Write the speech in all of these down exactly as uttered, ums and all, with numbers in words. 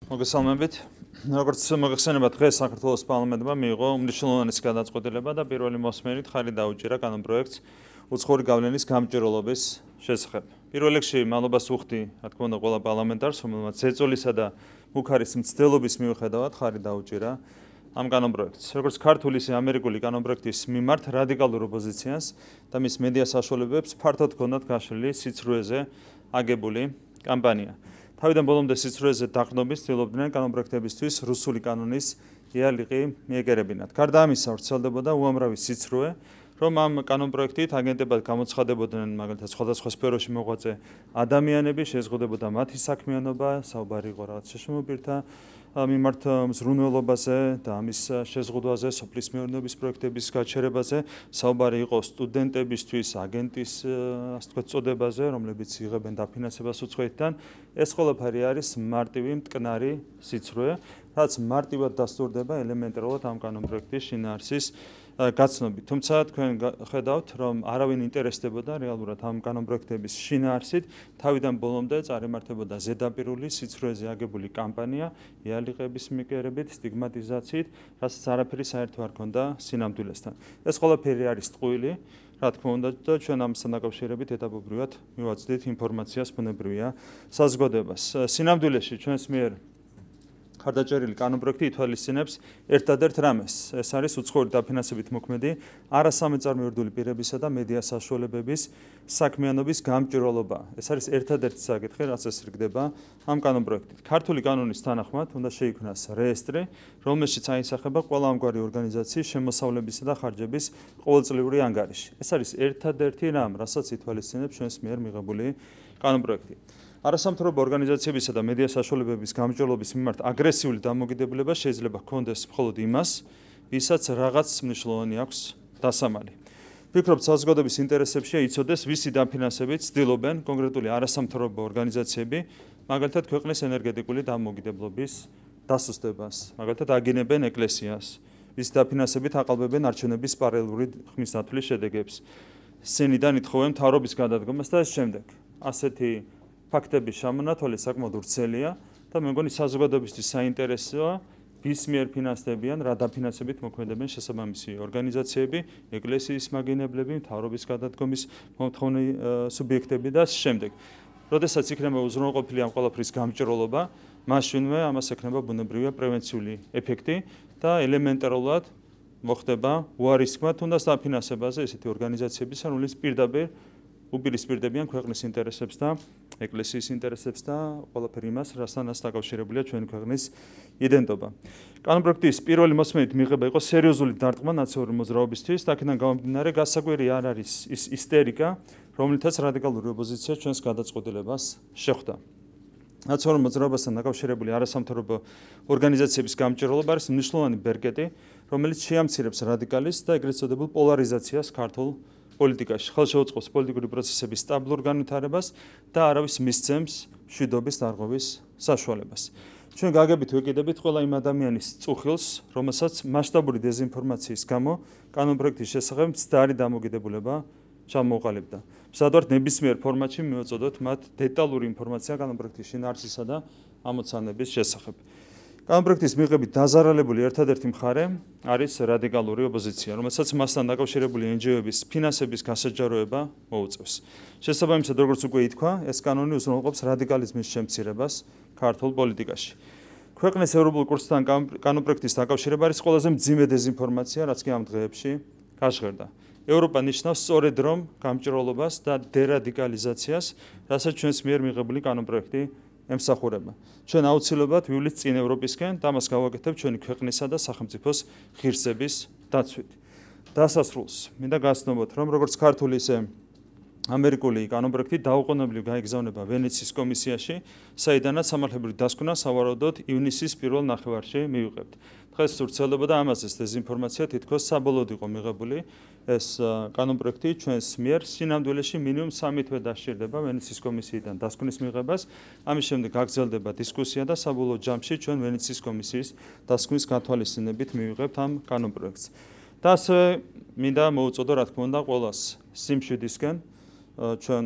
მოგესალმებით. როგორც მოგეხსენება, დღეს საქართველოს პარლამენტმა მიიღო უმნიშვნელოვანესი გადაწყვეტილება და პირველი მოსმენით ხელი დაუჭირა კანონპროექტს უცხოური გავლენის გამჭვირვალობის შესახებ. პირველ რიგში მადლობას ვუხდი, რა თქმა უნდა, ყველა პარლამენტარს, რომელმაც ზეწოლისა და მუქარის მცდელობის მიუხედავად ხელი დაუჭირა ამ კანონპროექტს. როგორც ქართული, ისე ამერიკული კანონპროექტის მიმართ რადიკალურ ოპოზიციას და მის მედია საშუალებებს ფართოდ ჰქონდათ გაშლილი სიცრუეზე აგებული კამპანია. თავიდან ბოლომდე სიცრუეზე დაყრდნობის ცდილობდნენ კანონპროექტებისთვის რუსული კანონის იარაღი მიეკერებინათ. გარდა ამისა, ვრცელდებოდა უამრავი სიცრუე, რომ ამ კანონპროექტით აგენტებად გამოცხადებოდნენ მაგალითად სხვადასხვა სფეროში მოღვაწე ადამიანები, შეზღუდებოდა მათი საქმიანობა, საუბარი იყო რაღაც შეშმობილთა მიმართ მზრუნველობაზე და ამის შეზღუდვაზე, სოფლის მეურნეობის პროექტების გაჩერებაზე, საუბარი იყო სტუდენტებისთვის აგენტის ასე ვთქვათ წოდებაზე, რომლებიც იღებენ დაფინანსებას უცხოეთიდან. ეს ყველაფერი არის მარტივი მტკნარი სიცრუე, რაც მარტივად დასტურდება ელემენტარულად ამ კანონპროექტის შინაარსის გაცნობით. თუმცა თქვენ ხედავთ, რომ არავინ ინტერესდებოდა რეალურად ამ კანონპროექტების შინაარსით, თავიდან ბოლომდე წარიმართებოდა ზედაპირული სიცრუეზე აგებული კამპანია, იარაღების მიკერებით, სტიგმატიზაციით, რასაც არაფერი საერთო არ ჰქონდა სინამდვილესთან. ეს ყველაფერი არის ტყუილი, რა თქმა უნდა, და ჩვენ ამასთან დაკავშირებით ეტაპობრივად მივაწვდით ინფორმაციას, ბუნებრივია საზოგადოებას. სინამდვილეში ჩვენს მიერ ხარდაჭერილი კანონპროექტი ითვალისწინებს ერთადერთ რამეს. ეს არის უცხოური დაფინანსებით მოქმედი არასამეწარმეორდული პირებისა და მედია საშუალებების საქმიანობის გამჭვირვალობა. ეს არის ერთადერთი საკითხი, რაც ესრიგდება ამ კანონპროექტით. ქართული კანონის თანახმად უნდა შეიქმნას რეესტრი, რომელშიც აისახება ყველა ამგვარი ორგანიზაციის შემოსავლებისა და ხარჯების ყოველწლიური ანგარიში. ეს არის ერთადერთი რამ, რასაც ითვალისწინებს ჩვენს მიერ მიღებული კანონპროექტი. არასამთავრობო ორგანიზაციებისა და მედია საშუალებების გამჭვირვალობის მიმართ აგრესიული დამოკიდებულება შეიძლება ჰქონდეს მხოლოდ იმას, ვისაც რაღაც მნიშვნელოვანი აქვს დასამალი. ვფიქრობ, საზოგადოების ინტერესებშია იცოდეს, ვისი დაფინანსებით ცდილობენ კონკრეტული არასამთავრობო ორგანიზაციები, მაგალითად ქვეყნის ენერგეტიკული დამოუკიდებლობის დასუსტებას, მაგალითად აგინებენ ეკლესიას, ვისი დაფინანსებით აყალბებენ არჩევნების პარალელური ხმისთვლის შედეგებს, სცენიდან ითხოვენ მთავრობის გადადგომას და ეს შემდეგ. ასეთი ფაქტების შემონათვალი საკმაოდ ვრცელია და მე მგონი საზოგადოებისთვის საინტერესოა, ვის მიერ ფინანსდებიან, რა დაფინანსებით მოქმედებენ შესაბამისი ორგანიზაციები, ეკლესიის მაგინებლები, მთავრობის გადადგომის მომთხოვნი სუბიექტები და შემდეგ. როდესაც იქნება უზრუნველყოფილი ამ ყველაფრის გამჭვირვალობა, მაშინვე ამას ექნება ბუნებრივია პრევენციული ეფექტი და ელემენტარულად მოხდება უარისქმა თუნდაც დაფინანსებაზე ესეთი ორგანიზაციების, რომლებიც პირდაპირ უპირისპირდებიან ქვეყნის ინტერესებს და ეკლესიის ინტერესებს და ყველაფერი იმას, რასთანაც დაკავშირებულია ჩვენი ქვეყნის იდენტობა. კანონპროექტის პირველი მოსმენით მიღება იყო სერიოზული დარტყმა ნაციონალური მოძრაობისთვის, და აქედან გამომდინარე გასაკვირი არ არის ის ისტერიკა, რომლითაც რადიკალური ოპოზიცია ჩვენს გადაწყვეტილებას შეხვდა. ნაციონალურ მოძრაობასთან დაკავშირებული არასამთავრობო ორგანიზაციების გამჭვირვალობა არის მნიშვნელოვანი ბერკეტი, რომელიც შეამცირებს რადიკალიზმს და ეგრეთ წოდებულ პოლარიზაციას ქართულ პოლიტიკაში, ხელშეუწყობს პოლიტიკური პროცესების სტაბილურ განვითარებას და არავის მისცემს მშვიდობის დარღვევის საშუალებას. ჩვენ გაგებით ვეკიდებით ყველა იმ ადამიანის წუხილს, რომელსაც მასშტაბური დეზინფორმაციის გამო კანონპროექტის შესახებ მცდარი დამოკიდებულება ჩამოუყალიბდა. მზადვართ ნებისმიერ ფორმატში მივაწოდოთ მათ დეტალური ინფორმაცია კანონპროექტის შინაარსისა და ამოცანების შესახებ. კანონპროექტის მიღებით დაზარალებული ერთადერთი მხარე არის რადიკალური ოპოზიცია, რომელსაც მასთან დაკავშირებული εν ჯი ო-ების ფინანსების გასაჯაროება მოუწევს. შესაბამისად, როგორც უკვე ითქვა, ეს კანონი უზრუნველყოფს რადიკალიზმის შემცირებას ქართულ პოლიტიკაში. ქვეყნის ევროპულ კურსთან კანონპროექტის დაკავშირება არის ყველაზე მძიმე დეზინფორმაცია, რაც კი ამ დღეებში გაჟღერდა. ევროპა ნიშნავს სწორედ რომ გამჭვირვალობას და დერადიკალიზაციას, რასაც ჩვენს მიერ მიღებული კანონპროექტი ემსახურება. ჩვენ აუცილებლად ვივლით წინ ევროპისკენ და მას გავაკეთებთ ჩვენი ქვეყნისა და სახელმწიფოს ღირსების დაცვით. დასასრულს მინდა გაცნობოთ, რომ როგორც ქართული, ისე ამერიკული კანონპროექტი დაუყოვნებლივ გაიგზავნება ვენეციის კომისიაში, საიდანაც სამართლებრივი დასკვნა სავარაუდოდ ივნისის პირველ ნახევარში მივიღებთ. დღეს ვრცელდებოდა ამაზე დეზინფორმაცია, თითქოს საბოლოოდ იყო მიღებული ეს კანონპროექტი ჩვენს მიერ სინამდვილეში მინიმუმ სამი თვე დასჭირდება ვენეციის კომისიიდან დასკვნის მიღებას, ამის შემდეგ გაგრძელდება დისკუსია და საბოლოო ჯამში ჩვენ ვენეციის კომისიის დასკვნის გათვალისწინებით მივიღებთ ამ კანონპროექტს. და ასევე მინდა მოუწოდო, რა თქმა უნდა, ყველას სიმშვიდისკენ, ჩვენ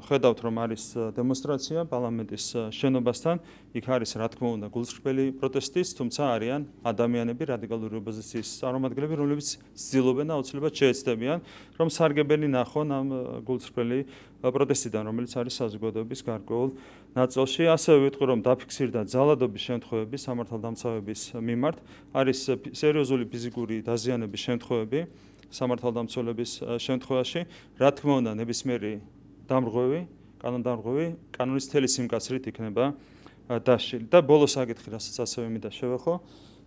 ხედავთ რომ არის დემონსტრაცია პარლამენტის შენობასთან, იქ არის რა თქმა უნდა გულწრფელი პროტესტის, თუმცა არიან ადამიანები რადიკალური ოპოზიციის წარმომადგენლები, რომლებიც ცდილობენ აუცილებლად შეეცდებიან, რომ სარგებელი ნახონ ამ გულწრფელი პროტესტიდან, რომელიც არის საზოგადოების გარკვეულ ნაწილში. ასევე ვიტყვი რომ დაფიქსირდა ძალადობის შემთხვევები სამართალდამცავების მიმართ, არის სერიოზული ფიზიკური დაზიანების შემთხვევები სამართალდამცველების შემთხვევაში, რა თქმა უნდა ნებისმიერი დამრღვევი, კანონდამრღვევი კანონის მთელი სიმკაცრით იქნება დაშლილი. და ბოლოს საკითხი, რასაც ასევე მინდა შევეხო,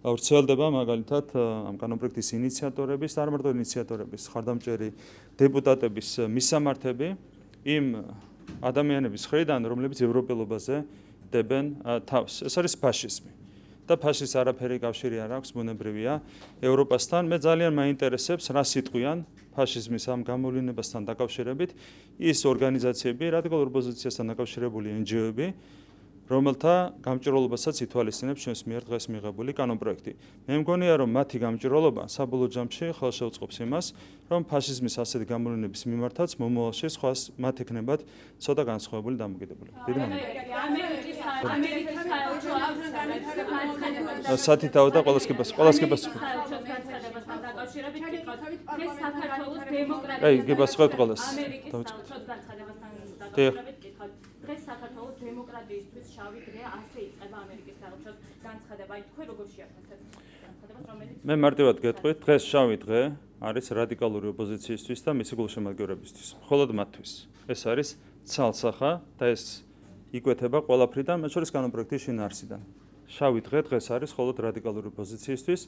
ვრცელდება მაგალითად ამ კანონპროექტის ინიციატორების, არ მარტო ინიციატორების, ხარდამჭერი დეპუტატების მისამართები იმ ადამიანების მხრიდან, რომლებიც ევროპელობაზე დებენ თავს. ეს არის ფაშიზმი. და ფაშის არაფერი კავშირი არ აქვს, ბუნებრივია ევროპასთან. მე ძალიან მაინტერესებს, რა სიტყვიან ფაშიზმის ამ გამოვლენებასთან დაკავშირებით ის ორგანიზაციები, რადიკალურ ოპოზიციასთან დაკავშირებული εν ჯი ო-ები, რომელთა გამჭვირვალობასაც ითვალისწინებს ჩვენს მიერ დღეს მიღებული კანონპროექტი. მე მგონია, რომ მათი გამჭვირვალობა საბოლოო ჯამში ხელ შეუწყობს იმას, რომ ფაშიზმის ასეთი გამოვლენების მიმართაც მომავალში სხვა მათ ექნებათ ცოტა განსხვავებული დამოკიდებულება. დიდი მადლობა. სათითაო და ყველას კი პასუხი. ყველას კი პასუხი. აი, კი პასუხობთ ყველას. დღეს საქართველოს დემოკრატიისთვის შავი დღე ასე იწყება ამერიკის საელჩოს განცხადება. აი თქვენ როგორ შეაფასებთ განცხადებას, რომელიც მე მარტივად გეტყვით, დღეს შავი დღე არის რადიკალური ოპოზიციისთვის და მისი გულშემატკივრებისთვის. მხოლოდ მათთვის. ეს არის ცალსახა და ეს იკვეთება ყველაფრიდან, მათ შორის კანონპროექტის შინაარსიდან. შავი დღე დღეს არის მხოლოდ რადიკალური ოპოზიციისთვის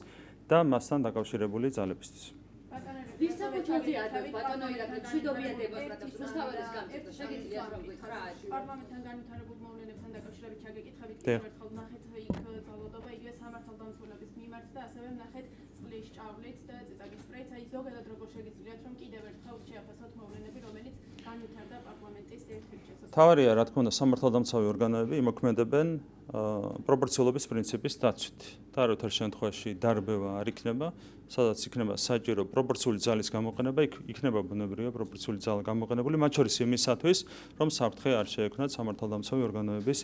და მასთან დაკავშირებული ძალებისთვის. ვის საფუძველზეა ბატონო ირაკლი მშვიდობიან დემონსტრატებს რუსთაველის გამჭირდა შეგიძლიათ რომ გითხრათ პარლამენტთან განვითარებულ მოვლენებთან დაკავშირებით ჩაგეკითხებით კიდევ ერთხელ ნახეთ იქ ძალადობა იგივე სამართალდამცველების მიმართ და ასევე ნახეთ წყლის ჭავლით და წიწაკის სპრეით. აი ზოგადად როგორ შეგიძლიათ რომ კიდევ ერთხელ შეაფასოთ მოვლენები, რომელიც განვითარდა პარლამენტის ერთ-ერთ შესაძლებლად. თავარია რა თქმა უნდა სამართალდამცავი ორგანოები იმოქმედებენ პროპორციულობის პრინციპის დაცვით. და არათარ შემთხვევაში დარბევა არ იქნება, სადაც იქნება საჭირო პროპორციული ძალის გამოყენება, იქ იქნება ბუნებრივია პროპორციული ძალა გამოყენებული, მათ შორის იმისათვის, რომ საფრთხე არ შეექმნათ სამართალდამცავი ორგანოების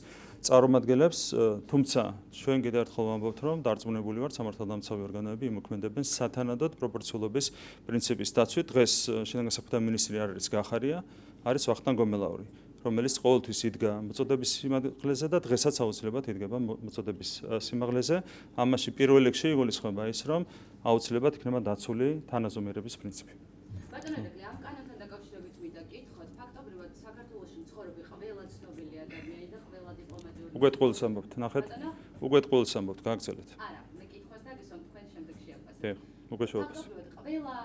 წარმომადგენლებს, თუმცა ჩვენ კიდევ ერთხელ ვამბობთ, რომ დარწმუნებული ვართ სამართალდამცავი ორგანოები იმოქმედებენ სათანადოდ პროპორციულობის პრინციპის დაცვით. დღეს შინაგან საქმეთა მინისტრი არ არის გახარია, არის ვახტანგ გომელაური, რომელიც ყოველთვის იდგა მოწოდების სიმაღლეზე და დღესაც აუცილებლად იდგება მოწოდების სიმაღლეზე. ამაში პირველ რიგში იგულისხმება ის, რომ აუცილებლად იქნება დაცული თანაზომიერების პრინციპი. ბატონო ირაკლი, ამ კანონთან დაკავშირებით მინდა გითხოთ, ფაქტობრივად საქართველოში მცხოვრები ყველა ცნობილი ადამიანი და ყველა დიპლომატიური უგვეთ ყოველს ამბობთ, ნახეთ. უგვეთ ყოველს ამბობთ, გააგრძელეთ. არა, მე კითხვას დაგისვამ თქვენ შემდეგ შეაფასებთ. დიახ, უკვე შევაფასე. ყველა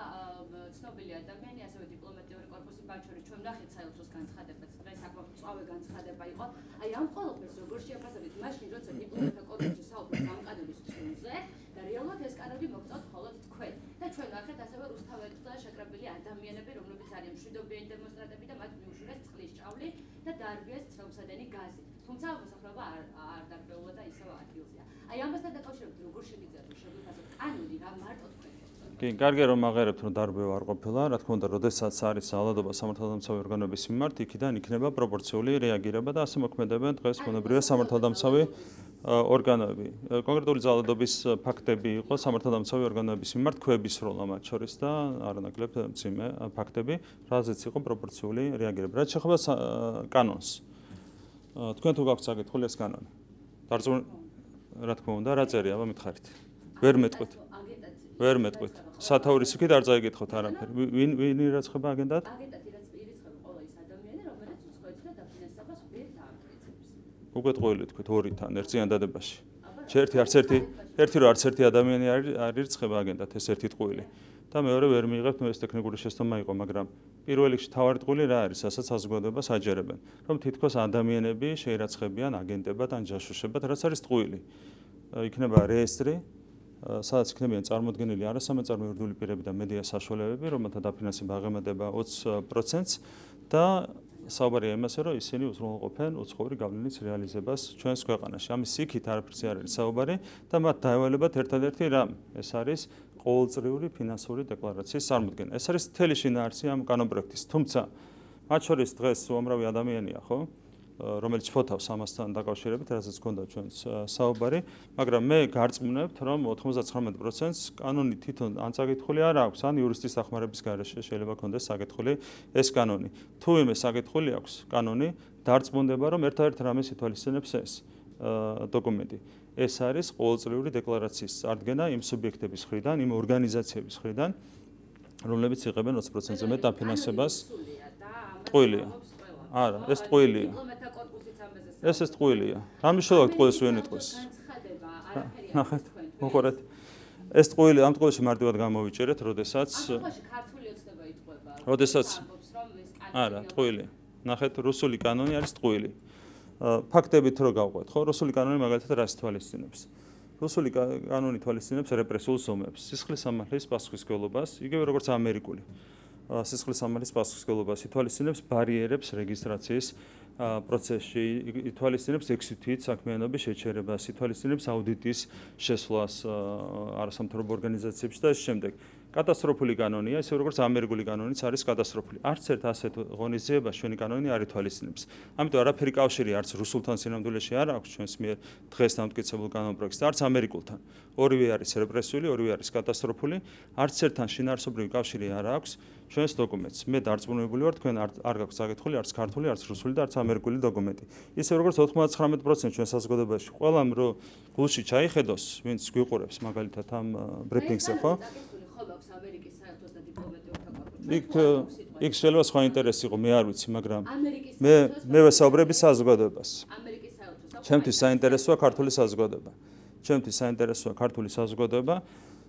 ცნობილი ადამიანი, ასევე დიპლომატიური კორპუსი, მათ შორის ჩვენ ნახეთ საელჩოს განცხადებაც, დღეს საკმაოდ მწვავე განცხადება იყო. აი ამ ყველაფერს როგორ შეაფასებთ მაშინ, როცა დიპლომატთა კორპუსი საუბრობს ამ კანონის წვლილზე და რეალურად ეს კანონი მოგწოთ მხოლოდ თქვენ. და ჩვენ ნახეთ ასევე რუსთაველთა შეკრებილი ადამიანები, რომლებიც არიან მშვიდობიანი დემონსტრანტები და მათ მიუშურეს წყლის ჭავლი და დაარბიეს ცრემლსადენი გაზით. თუმცა მოსახლეობა არ არ დარბეულა და ისევ ადგილზეა. აი ამასთან დაკავშირებით როგორ შეგიძლიათ რომ შეგვიფასოთ კანონი რა მარტო თქვენ კი, კარგია რომ აღერებთ რომ დარბევა არ ყოფილა, რა თქმა უნდა, როდესაც არის ძალადობა სამართალდამცავი ორგანოების მიმართ, იქიდან იქნება პროპორციული რეაგირება და ასე მოქმედებენ დღეს ბუნებრივია სამართალდამცავი ორგანოები. კონკრეტული ძალადობის ფაქტები იყო სამართალდამცავი ორგანოების მიმართ ქვების სროლა მათ შორის და არანაკლებ მძიმე ფაქტები, რაზეც იყო პროპორციული რეაგირება. რაც შეეხება კანონს. თქვენ თუ გაქვთ საკითხული ეს კანონი? დარწმუნ რა თქმა უნდა, რა წერია, აბა მითხარით. ვერ მეტყვით. ვერ მეტყვით. სათაურის იქით არ წაიგითხოთ არაფერი. ვინ ვინ ირაცხება აგენტად? აგენტად ირაცხება ყველა ის ადამიანი, რომელიც უცხოეთში და დაფინანსებას ვერ დაამტკიცებს. უგვეთ ყოველი თქვით ორი თან ერთ წინადადებაში. ერთი არც ერთი, ერთი რო არც ერთი ადამიანი არ ირიცხება აგენტად, ეს ერთი ტყუილი. და მეორე ვერ მიიღებთ, ეს ტექნიკური შეცდომა იყო, მაგრამ პირველ რიგში თავარი ტყუილი რა არის, რასაც საზოგადოებას აჯერებენ, რომ თითქოს ადამიანები შეირაცხებიან აგენტებად ან ჯაშუშებად, რაც არის ტყუილი. იქნება რეესტრი, სადაც იქნებიან წარმოდგენილი არასამეწარმო იურიდიული პირები და მედია საშუალებები, რომელთა დაფინანსება აღემატება ოცი პროცენტს და საუბარია იმაზე, რომ ისინი უზრუნველყოფენ უცხოური გავლენის რეალიზებას ჩვენს ქვეყანაში. ამის იქით არაფერზე არ არის საუბარი და მათ დაევალებათ ერთადერთი რამ, ეს არის ყოველწლიური ფინანსური დეკლარაციის წარმოდგენა. ეს არის მთელი შინაარსი ამ კანონპროექტის. თუმცა მათ შორის დღეს უამრავი ადამიანია, ხო? რომელიც ფოთავს ამასთან დაკავშირებით, რასაც გქონდა ჩვენს საუბარი, მაგრამ მე გარწმუნებთ, რომ ოცდათხმეტ პროცენტს კანონი თვითონ ან საკითხული არ აქვს, ან იურისტის დახმარების გარეშე შეიძლება ქონდეს საკითხული ეს კანონი. თუ იმე საკითხული აქვს კანონი, დარწმუნდება, რომ ერთადერთ რამეს ითვალისწინებს ეს დოკუმენტი. ეს არის ყოველწლიური დეკლარაციის წარდგენა იმ სუბიექტების მხრიდან, იმ ორგანიზაციების მხრიდან, რომლებიც იღებენ ოცდაათი პროცენტზე მეტ დაფინანსებას. ტყუილია. არა, ეს ტყუილია. ეს ეს ტყუილია. რა მნიშვნელობა ტყუილს ვინ იტყვის? ნახეთ, მოყურეთ. ეს ტყუილი ამ ტყუილში მარტივად გამოვიჭერეთ, როდესაც ქართული ოცნება იტყვება. როდესაც არა, ტყუილი. ნახეთ, რუსული კანონი არის ტყუილი. ფაქტებით რო გავყვეთ, ხო? რუსული კანონი მაგალითად რას თვალისწინებს? რუსული კანონი თვალისწინებს რეპრესიულ ზომებს, სისხლის სამართლის პასუხისმგებლობას, იგივე როგორც ამერიკული. სისხლის სამართლის პასუხისმგებლობას ითვალისწინებს ბარიერებს რეგისტრაციის პროცესში, ითვალისწინებს ექვსი თვით საქმიანობის შეჩერებას, ითვალისწინებს აუდიტის შესვლას არასამთავრობო ორგანიზაციებში და ამ შემდეგ. კატასტროფული კანონია, ისე როგორც ამერიკული კანონიც არის კატასტროფული. არც ერთ ასეთ ღონისძიებას ჩვენი კანონი არ ითვალისწინებს. ამიტომ არაფერი კავშირი არც რუსულთან სინამდვილეში არ აქვს ჩვენს მიერ დღეს დამტკიცებულ კანონპროექტს, არც ამერიკულთან. ორივე არის რეპრესიული, ორივე არის კატასტროფული, არც ერთთან შინაარსობრივი კავშირი არ აქვს ჩვენს დოკუმენტს. მე დარწმუნებული ვარ, თქვენ არ გაქვთ საკითხული, არც ქართული, არც რუსული და არც ამერიკული დოკუმენტი. ისე როგორც ოცდათხმეტ პროცენტს ჩვენ საზოგადოებაში ყველამ რო გულში ჩაიხედოს, ვინც გვიყურებს მაგალითად ამ ბრიფინგზე, ხო? იქ იქ შეიძლება სხვა ინტერესი იყო, მე არ ვიცი, მაგრამ მე მე ვესაუბრები საზოგადოებას. ჩემთვის საინტერესოა ქართული საზოგადოება. ჩემთვის საინტერესოა ქართული საზოგადოება.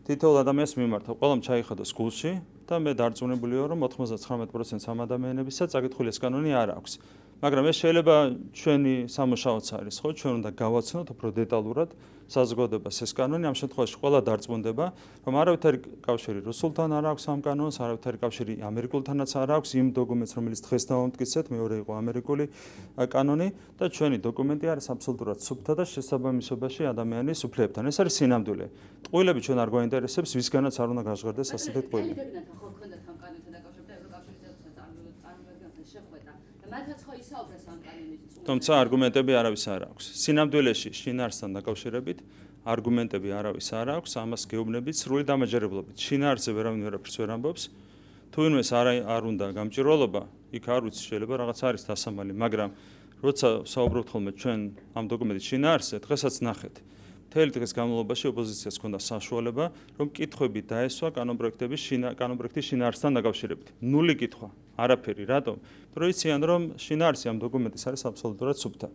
თითოეულ ადამიანს მიმართა, ყველამ ჩაიხედოს გულში და მე დარწმუნებული ვარ, რომ ოცდათხმეტ პროცენტს ამ ადამიანებისაც საკითხული ეს კანონი არ აქვს. მაგრამ ეს შეიძლება ჩვენი სამუშაოც არის, ხო? ჩვენ უნდა გავაცნოთ უფრო დეტალურად საზოგადოებას ეს კანონი. ამ შემთხვევაში ყველა დარწმუნდება, რომ არავითარი კავშირი რუსულთან არ აქვს ამ კანონს, არავითარი კავშირი ამერიკულთანაც არ აქვს იმ დოკუმენტს, რომელიც დღეს დავამტკიცეთ, მეორე იყო ამერიკული კანონი და ჩვენი დოკუმენტი არის აბსოლუტურად სუფთა და შესაბამისობაში ადამიანის უფლებებთან. ეს არის სინამდვილე. ტყუილები ჩვენ არ გვაინტერესებს, ვისგანაც არ უნდა გაჟღერდეს ასეთი ტყუილი. თუმცა არგუმენტები არავის არ აქვს. სინამდვილეში შინაარსთან დაკავშირებით არგუმენტები არავის არ აქვს, ამას გეუბნებით სრული დამაჯერებლობით. შინაარსზე ვერავინ ვერაფერს ვერ ამბობს. თუ ვინმეს არ არ უნდა გამჭირვალობა, იქ არ ვიცი, შეიძლება რაღაც არის დასამალი, მაგრამ როცა საუბრობთ ხოლმე ჩვენ ამ დოკუმენტის შინაარსზე, დღესაც ნახეთ. მთელი დღის განმავლობაში ოპოზიციას ჰქონდა საშუალება, რომ კითხვები დაესვა კანონპროექტების კანონპროექტის შინაარსთან დაკავშირებით. ნული კითხვა, არაფერი, რატომ? რომ იციან, რომ შინაარსი ამ დოკუმენტის არის აბსოლუტურად სუფთა.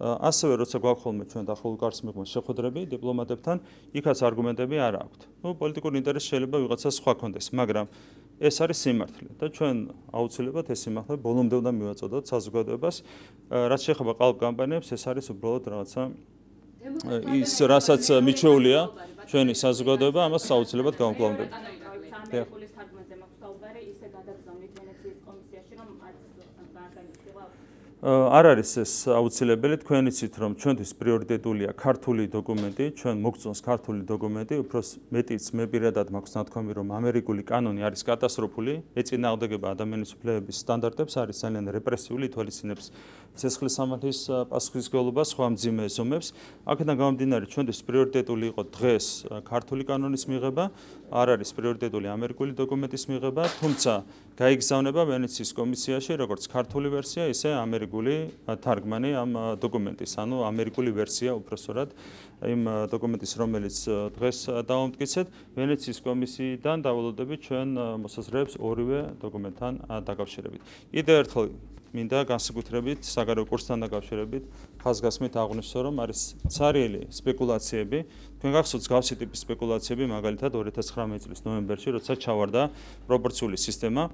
ასევე როცა გვაქვს ხოლმე ჩვენ დახურულ კარს მიღმა შეხვედრები დიპლომატებთან, იქაც არგუმენტები არ აქვთ. ნუ პოლიტიკური ინტერესი შეიძლება ვიღაცას სხვა ქონდეს, მაგრამ ეს არის სიმართლე და ჩვენ აუცილებლად ეს სიმართლე ბოლომდე უნდა მივაწოდოთ საზოგადოებას. რაც შეეხება ყალბ კამპანიებს, ეს არის უბრალოდ რაღაცა ის რასაც მიჩვეულია ჩვენი საზოგადოება, ამას აუცილებლად გავამკლავდებით. ამერიკულის თარგმანზე მაქვს საუბარი, ისე გადაგზავნით ვენეციის კომისიაში, რომ არც არ განიხილება. არ არის ეს აუცილებელი, თქვენ იცით, რომ ჩვენთვის პრიორიტეტულია ქართული დოკუმენტი, ჩვენ მოგწონს ქართული დოკუმენტი, უფრო მეტიც მე პირადად მაქვს ნათქვამი, რომ ამერიკული კანონი არის კატასტროფული, ეწინააღმდეგება ადამიანის უფლებების სტანდარტებს, არის ძალიან რეპრესიული, ითვალისწინებს სისხლის სამართლის პასუხისმგებლობას, სხვა მძიმე ზომებს. აქედან გამომდინარე, ჩვენთვის პრიორიტეტული იყო დღეს ქართული კანონის მიღება, არ არის პრიორიტეტული ამერიკული დოკუმენტის მიღება, თუმცა გაიგზავნება ვენეციის კომისიაში როგორც ქართული ვერსია, ისე ამერიკული თარგმანი ამ დოკუმენტის, ანუ ამერიკული ვერსია უпроსტად იმ დოკუმენტის, რომელიც დღეს დავამტკიცეთ, ვენეციის კომისიიდან დავალოდებით ჩვენ მოსაზრებებს ორივე დოკუმენტთან დაკავშირებით. კიდევ ერთხელ მინდა განსაკუთრებით საგარეო კურსთან დაკავშირებით ხაზგასმით აღვნიშნო, რომ არის ცარიელი სპეკულაციები. თქვენ გახსოვთ მსგავსი ტიპის სპეკულაციები, მაგალითად ორი ათას ცხრამეტი წლის ნოემბერში, როცა ჩავარდა პროპორციული სისტემა.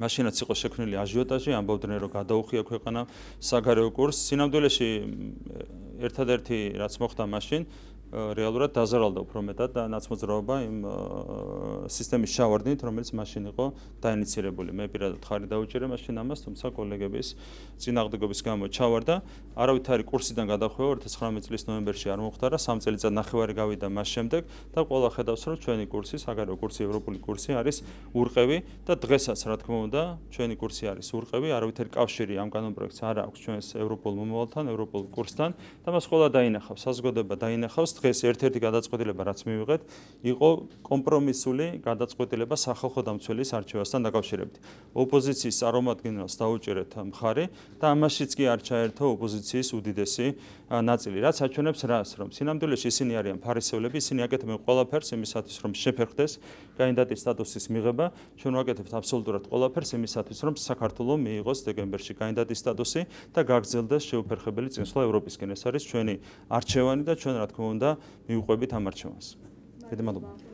მაშინაც იყო შექმნილი აჟიოტაჟი, ამბობდნენ, რომ გადაუხია ქვეყანა საგარეო კურსს. სინამდვილეში ერთადერთი რაც მოხდა მაშინ, რეალურად დაზარალდა უფრო მეტად და ნაცმოძრაობა იმ სისტემის ჩავარდნით, რომელიც მაშინ იყო დაინიცირებული. მე პირადად ხარი დაუჭერე მაშინ ამას, თუმცა კოლეგების წინააღმდეგობის გამო ჩავარდა. არავითარი კურსიდან გადახვევა ორი ათას ცხრამეტი წლის ნოემბერში არ მომხდარა, სამ წელიწად ნახევარი გავიდა მას შემდეგ და ყველა ხედავს, რომ ჩვენი კურსი, საგარეო კურსი, ევროპული კურსი არის ურყევი და დღესაც, რა თქმა უნდა, ჩვენი კურსი არის ურყევი, არავითარი კავშირი ამ კანონპროექტს არ აქვს ჩვენს ევროპულ მომავალთან, ევროპულ კურსთან და მას ყველა დაინახავს, საზოგადოება დაინახავს. დღეს ერთ-ერთი გადაწყვეტილება, რაც მივიღეთ, იყო კომპრომისული გადაწყვეტილება სახალხო დამცველის არჩევასთან დაკავშირებით. ოპოზიციის წარმომადგენელს დაუჭერეთ მხარი და ამაშიც კი არ ჩაერთო ოპოზიციის უდიდესი ნაწილი, რაც აჩვენებს რას, რომ სინამდვილეში ისინი არიან ფარისევლები, ისინი აკეთებენ ყველაფერს იმისათვის, რომ შეფერხდეს კანდიდატის სტატუსის მიღება, ჩვენ ვაკეთებთ აბსოლუტურად ყველაფერს იმისათვის, რომ საქართველოს მიიღოს დეკემბერში კანდიდატის სტატუსი და გაგრძელდეს შეუფერხებელი წინსვლა ევროპისკენ. ეს არის ჩვენი არჩევანი და ჩვენ რა თქმა უნდა მივყვებით ამ არჩევანს. დიდი მადლობა.